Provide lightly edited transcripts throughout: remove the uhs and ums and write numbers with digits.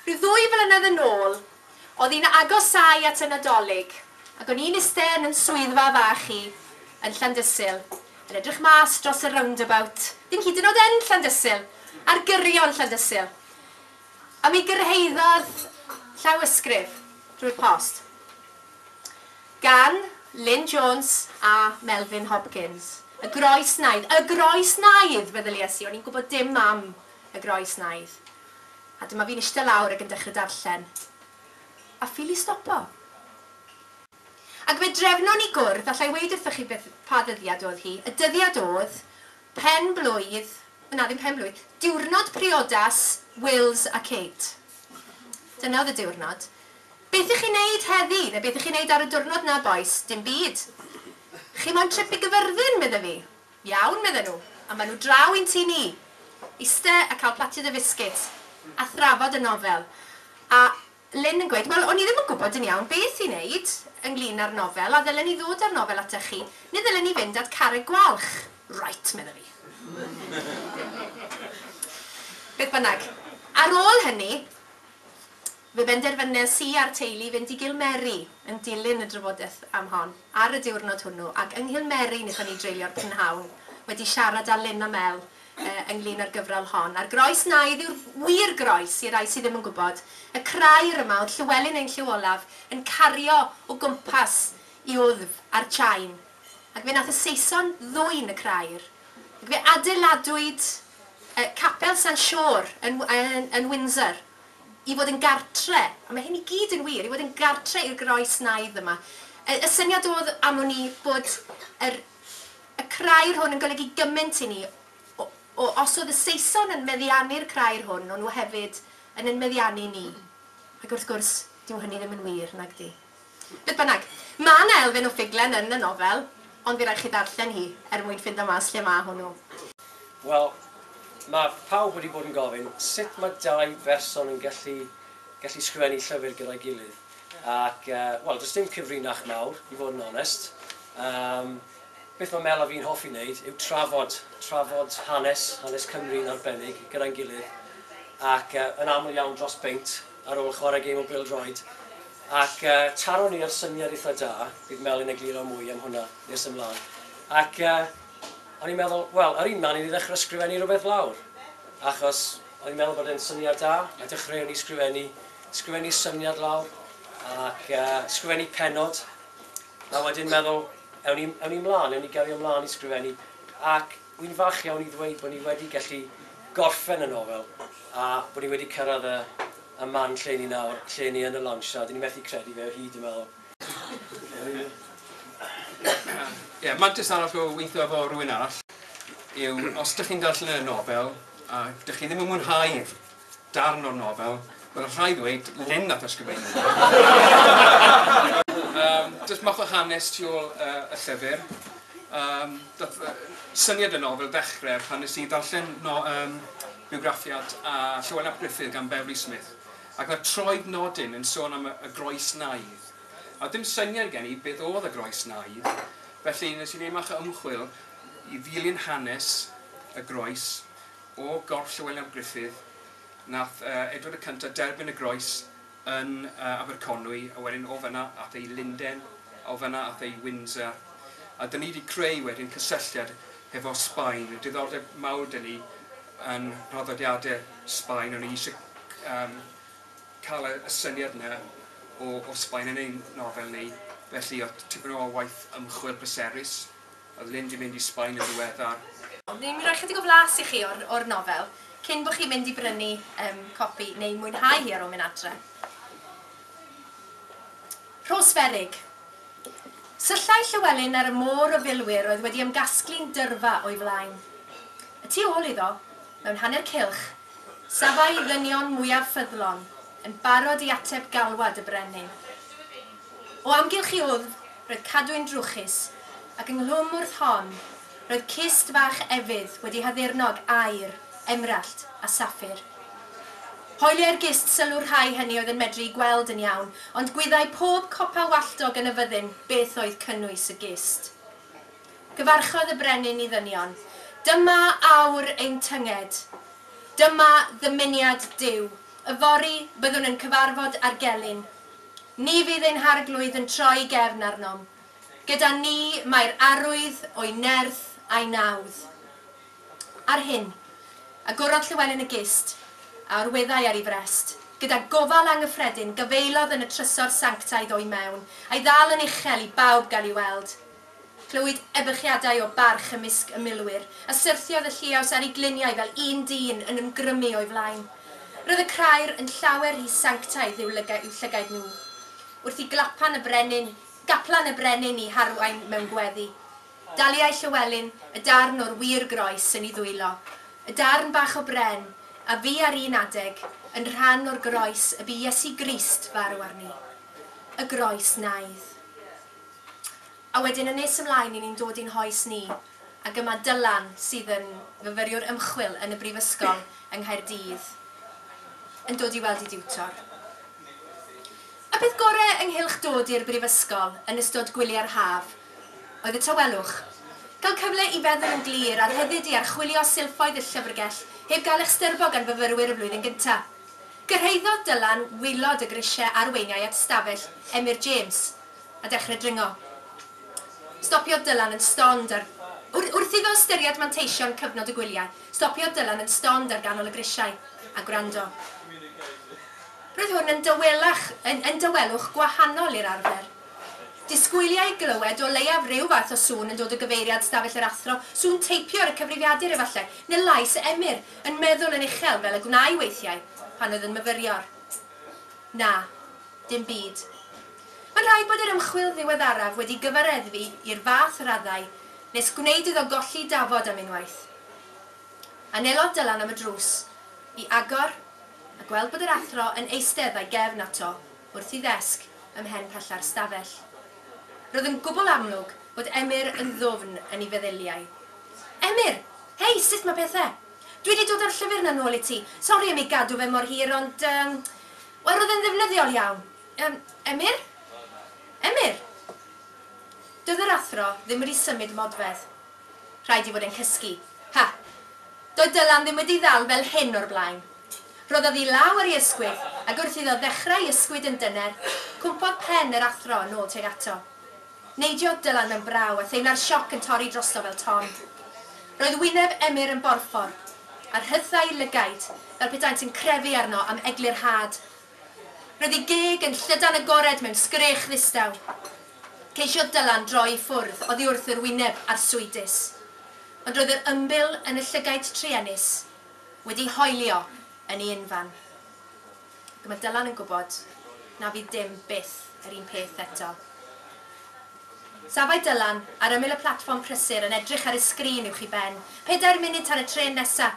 Rhyw ddwy flynedd yn ôl, oedd hi'n agosáu at y Nadolig, ac o'n i'n iste yn 'yn swyddfa fach i yn Llandysul, yn edrych mas dros y roundabout, ddim hyd yn oed yn Llandysul, ar gyrion Llandysul. A mi gyrhaeddodd llawysgrif drwy'r post gan Lyn Jones a Melvyn Hopkins. Y Groes Naidd. Y Groes Naidd, feddyliais i, o'n i'n gwybod dim am y Groes Naidd. A dyma fi'n ishte lawr ac yn dechrau darllen. A ffili stopo. Ac fe drefnon ni gwrdd, alla i weud wrthoch chi beth, pa ddyddiad oedd hi. Y dyddiad oedd pen-blwydd, na ddim pen-blwydd, diwrnod priodas Wills a Kate. Dyna oedd y diwrnod. Beth ych chi'n neud heddi? Neu beth ych chi'n neud ar y diwrnod 'na, bois? Dim byd. Chi moyn trip i Gyfyrddin? medde fi. Iawn, medden nhw. A maen nhw draw i'n tŷ ni. Iste a cael platiad o fisgets a thrafod y nofel. A Lyn yn gweud, wel, o'n i ddim yn gwybod yn iawn beth i wneud ynglyn â'r nofel, a ddylen i ddod â'r nofel atach chi, neu ddylen i fynd at Carreg Gwalch? Right, medda fi. Beth bynnag. Ar ôl hynny, fe benderfynes i a'r teulu fynd i Gilmeri yn dilyn y drafodaeth am hon ar y diwrnod hwnnw, ac yng Nghilmeri wnaethon ni dreulio'r prynhawn wedi siarad â Lyn a Mel ynglŷn â'r gyfrol hon. A'r groes naidd yw'r wir groes, i rai sydd ddim yn gwybod. Y crair yma oedd Llywelyn ein Llyw Olaf yn cario o gwmpas i wddf a'r chain. Ac fe nath y Saeson ddwyn y crair. Ac fe adeiladwyd Capel San Siôr yn, yn, yn Windsor i fod yn gartre, a mae hyn i gyd yn wir, i fod yn gartre i'r groes naidd yma. Y, y syniad oedd am wn i bod yr Y crair hwn yn golygu gymaint i ni, o, o, os oedd y Saeson yn meddiannu'r crair hwn, o'n nhw hefyd yn ein meddiannu ni. Ac wrth gwrs, dyw hynny ddim yn wir, nag 'di? Beth bynnag, ma' 'na elfen o ffuglen yn y nofel, ond fydd raid chi ddarllen hi er mwyn ffindo mas lle ma' hwnnw. Wel, mae pawb wedi bod yn gofyn sut mae dau berson yn gallu gallu sgrifennu llyfr gyda'i gilydd. Ac, wel, does dim cyfrinach mawr, i fod yn onest. Yym, beth mae Mel a fi'n hoffi wneud yw trafod, trafod hanes, hanes Cymru yn arbennig, gyda'n gilydd, ac uh, yn aml iawn dros beint ar ôl chwarae gêm o bêl-droed. Ac uh, taron ni ar syniad eitha da, bydd Mel yn egluro mwy am hwnna nes ymlaen. Ac uh, o'n i'n meddwl, wel, yr un man i ni ddechrau sgrifennu rhywbeth lawr, achos o'n i'n meddwl bod e'n syniad da, a dechreuon ni sgrifennu, sgrifennu syniad lawr, ac uh, sgrifennu pennod, A wedyn meddwl, ewn ni, ewn ni mlaen, ewn ni gario mlaen i sgrifennu. Ac wy'n falch iawn i ddweud bod ni wedi gallu gorffen y nofel a bod ni wedi cyrraedd y, y man lle ni nawr, lle ni yn y launch a dyn ni methu credu fe o hyd, dwi'n meddwl. Ie, yeah, mantais arall o weithio efo rhywun arall yw os ydych chi'n darllen y nofel a ydych chi ddim yn mwynhau darn o'r nofel, wel rhaid ddweud, Lyn nath ysgrifennu. Jyst mach o hanes tu ôl y llyfr. Dath syniad y nofel ddechrau pan nes i ddarllen no, um, bywgraffiad a Llywelyn ap Gruffydd gan Beverley Smith, ac oedd troed nodyn yn sôn am y, y groes naidd. A dim syniad gen i beth oedd y groes naidd, felly nes i wneud mach o ymchwil i ddilyn hanes y groes O gorff Llywelyn ap Gruffydd, nath Edward y Cyntaf derbyn y groes yn Aberconwy, a wedyn o fan'na ath e i Lunden, a o fan'na ath e i Windsor. A 'dyn ni 'di creu wedyn cysylltiad hefo Sbaen, y diddordeb mawr 'da ni yn nhraddodiade Sbaen, o'n i eisiau yym cael y syniad 'na o o Sbaen yn ein nofel ni, felly o'dd tipyn o waith ymchwil pleserus. Oedd Lyn 'di mynd i Sbaen yn ddiweddar. Ni'n rhoi chydig o flas i chi o'r o'r nofel cyn bod chi'n mynd i brynu yym copi neu mwynhau hi ar ôl mynd adre. Rhosferig. Syllai Llywelyn ar y môr o filwyr oedd wedi ymgasglu'n dyrfa o'i flaen. Y tu ôl iddo, mewn hanner cylch, safai ddynion mwyaf ffyddlon, yn barod i ateb galwad y brenin. O amgylch i wddf roedd cadwyn drwchus, Ac ynghlwm wrth hon, roedd cist fach efydd wedi haddurno ag aur, emrallt a saffir. Hoeliai'r gist sylw'r rhai hynny oedd yn medru gweld yn iawn, ond gwyddai pob copa walltog yn y fyddin beth oedd cynnwys y gist. Cyfarchodd y brenin i ddynion. Dyma awr ein tynged. Dyma ddymuniad Duw. Yfory byddwn yn cyfarfod â'r gelyn. Ni fydd ein harglwydd yn troi gefn arnom. Gyda ni mae'r arwydd o'i nerth a'i nawdd. Ar hyn, agorodd Llywelyn y gist, a orweddai ar ei frest. Gyda gofal anghyffredin, gafaelodd yn y trysor sanctaidd o'i mewn, a'i ddal yn uchel i bawb gael ei weld. Clywyd ebychiadau o barch ymysg y milwyr, a syrthiodd y lliaws ar ei gliniau fel un dyn yn ymgrymu o'i flaen. Roedd y crair yn llawer rhy sanctaidd i'w lygaid nhw. Wrth i glapan y brenin, gaplan y brenin i harwain mewn gweddi. Daliai Llywelyn y darn o'r wir groes yn ei ddwylo, y darn bach o bren a fu ar un adeg yn rhan o'r groes y bu Iesu Grist farw arni. Y groes naidd. A wedyn yn nes ymlaen i ni'n dod i'n hoes ni, ac yma Dylan sydd yn fyfyriwr ymchwil yn y Brifysgol yng Nghaerdydd, yn dod i weld ei diwtor. Y peth gorau ynghylch dod i'r brifysgol yn ystod gwyliau'r haf oedd y tawelwch. Cael cyfle i feddwl yn glir a rhyddid i archwilio silffoedd y llyfrgell heb gael eich styrbo gan fyfyrwyr y flwyddyn gyntaf. Gyrhaeddodd Dylan waelod y grisiau arweiniai at stafell Emyr James a dechrau dringo. Stopiodd Dylan yn stond ar... Wrth iddo ystyried manteision cyfnod y gwyliau, stopiodd Dylan yn stond ar ganol y grisiau a gwrando. Roedd hwn yn dawelach, yn, yn dawelwch gwahanol i'r arfer. Disgwyliai glywed o leiaf rhyw fath o sŵn yn dod o gyfeiriad stafell yr athro, sŵn teipio ar y cyfrifiadur efallai, neu lais Emyr yn meddwl yn uchel fel y gwnâi weithiau pan oedd yn myfyrior. Na, dim byd. Mae'n rhaid bod yr ymchwil ddiweddaraf wedi gyfareddfu i'r fath raddau nes gwneud iddo golli dafod am unwaith. Anelodd Dylan am y drws, i agor a gweld bod yr athro yn eistedd a'i gefn ato wrth ei ddesg ym mhen pella'r stafell. Roedd yn gwbl amlwg bod Emyr yn ddwfn yn ei feddyliau. Emyr! Hei, sut mae pethau? Dwi wedi dod â'r llyfr 'na nôl i ti. Sori am ei gadw fe mor hir, ond... Um, Wel, roedd e'n ddefnyddiol iawn. Emyr? Emyr? Doedd yr athro ddim wedi symud modfedd. Rhaid i fod e'n cysgu. Ha! Doedd Dylan ddim wedi ddal fel hyn o'r blaen. Rhoddodd ei law ar ei ysgwydd, ac wrth iddo ddechrau ysgwyd yn dyner, cwmpodd pen yr athro yn ôl tuag ato. Neidiodd Dylan mewn braw a theimla'r sioc yn torri drosto fel ton. Roedd wyneb Emyr yn borffor, a rhythau lygaid fel petaent yn crefu arno am eglurhad. Roedd ei geg yn llydan agored mewn sgrech ddistaw. Ceisiodd Dylan droi i ffwrdd oddi wrth yr wyneb arswydus. Ond roedd yr ymbil yn y llygaid truenus wedi hoelio yn ei unfan. Ac mae Dylan yn gwybod na fydd dim byth yr un peth eto. Safai Dylan ar ymyl y platfform prysur yn edrych ar y sgrin uwch ei ben. 4 munud tan y trên nesa.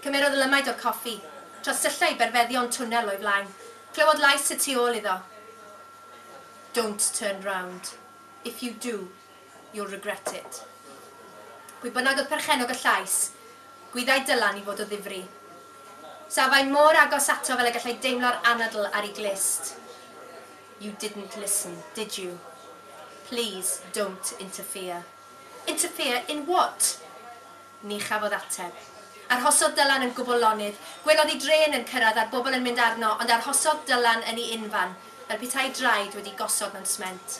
Cymerodd lymaid o'r coffi. Trosyllai berfeddion twnnel o'i flaen. Clywodd lais y tu ôl iddo. Don't turn round. If you do, you'll regret it. Pwy bynnag oedd perchennog y llais, gwyddai Dylan i fod o ddifri. Safai mor agos ato fel y gallai deimlo'r anadl ar ei glust. You didn't listen, did you? Please don't interfere. Interfere in what? Ni chafodd ateb. Arhosodd Dylan yn gwbl lonydd. Gwelodd ei drên yn cyrraedd a'r bobl yn mynd arno, ond arhosodd Dylan yn ei unfan, fel petai draed wedi gosod mewn sment.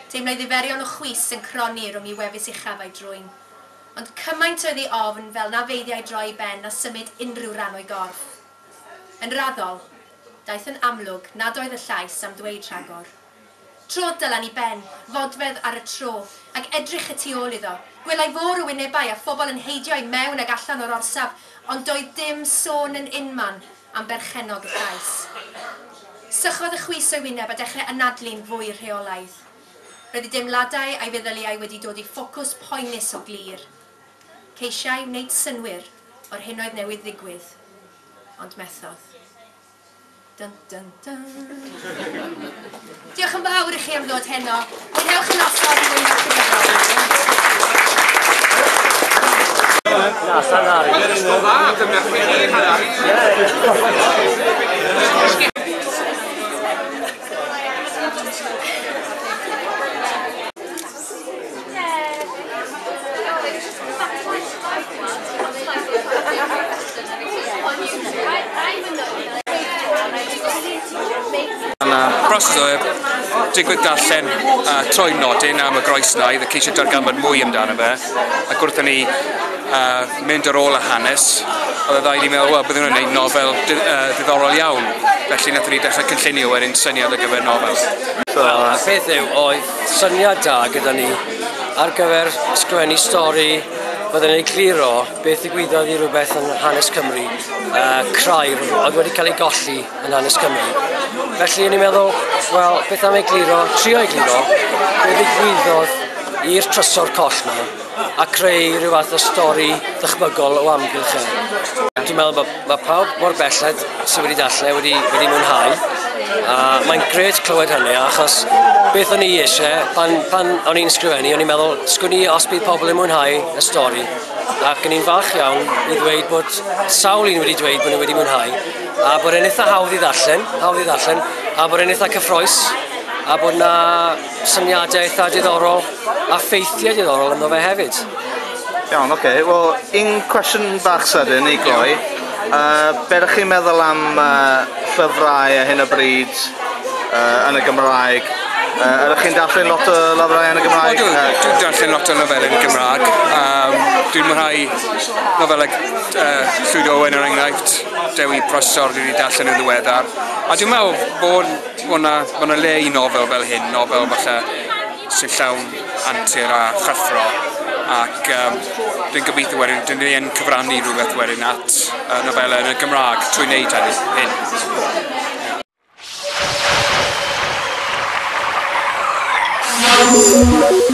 Teimlai ddiferion o chwys yn cronni rhwng ei wefus uchaf a'i drwyn. Ond cymaint oedd ei ofn fel na feiddiai droi ei ben na symud unrhyw ran o'i gorff. Yn raddol, daeth yn amlwg nad oedd y llais am ddweud rhagor. Trodd Dylan i ben, fodfedd ar y tro, ac edrych y tu ôl iddo. Gwelai fôr o wynebau a phobl yn heidio i mewn ag allan o'r orsaf, ond doedd dim sôn yn unman am berchennog y llais. Sychodd y chwys o'i wyneb a dechrau anadlu'n fwy rheolaidd. Roedd ei deimladau a'i feddyliau wedi dod i ffocws poenus o glir. Ceisiai wneud synnwyr o'r hyn oedd newydd ddigwydd, ond methodd. Dun, dun, dun. Diolch yn fawr i chi am ddod heno. Mwynhewch y noson, mwynhewch y gyfrol. Na, Llanhari. O dda, dyma chi, Llanhari. Broses o digwydd darllen troi nodyn am y groes 'na, ceisio darganfod mwy amdano fe, ac wrth ni mynd ar ôl y hanes, oedd y ddau ni'n meddwl, wel, byddwn nhw'n gwneud nofel diddorol iawn. Felly wnaethon ni dechrau cynllunio wedyn syniad ar gyfer nofel. Wel, y peth yw, oedd syniad da gyda ni ar gyfer ysgrifennu stori fydden ni'n egluro beth ddigwyddodd i rhywbeth yn hanes Cymru, crair oedd wedi cael ei golli yn hanes Cymru. Felly o'n i'n meddwl, wel, beth am egluro, trio egluro, beth ddigwyddodd i'r trysor coll 'ma a creu rhyw fath o stori ddychmygol o amgylch e. Dwi'n meddwl bod mae pawb mor belled sydd wedi darllen wedi mwynhau. A mae'n grêt clywed hynny, achos beth o'n i eisiau, pan o'n i'n sgrifennu, o'n i'n meddwl, sgwn i os bydd pobl yn mwynhau y stori. Ac o'n i'n falch iawn i ddweud bod sawl un wedi dweud bod nhw wedi mwynhau, a bod e'n eitha hawdd i ddarllen, a bod e'n eitha cyffrous, a bod na syniadau eitha diddorol a ffeithiau diddorol ynddo fe hefyd. Iawn, oce. Wel, un cwestiwn bach sydyn i gloi. Be ydych chi'n meddwl am llyfrau ar hyn o bryd yn y Gymraeg? Ydych chi'n darllen lot o lyfrau yn y Gymraeg? Dwi'n darllen lot o nofelau yn y Gymraeg. Dwi'n mwynhau nofelau Llwyd Owen er enghraifft, Dewi Prysor dwi wedi darllen yn ddiweddar. A dwi'n meddwl bod yna le i nofel fel hyn, nofel falle sy'n llawn antur a chyffro. Ac dwi'n gobeithio wedyn, dyn ni yn cyfrannu rhywbeth wedyn at nofelau yn y Gymraeg trwy wneud hyn. Thank you.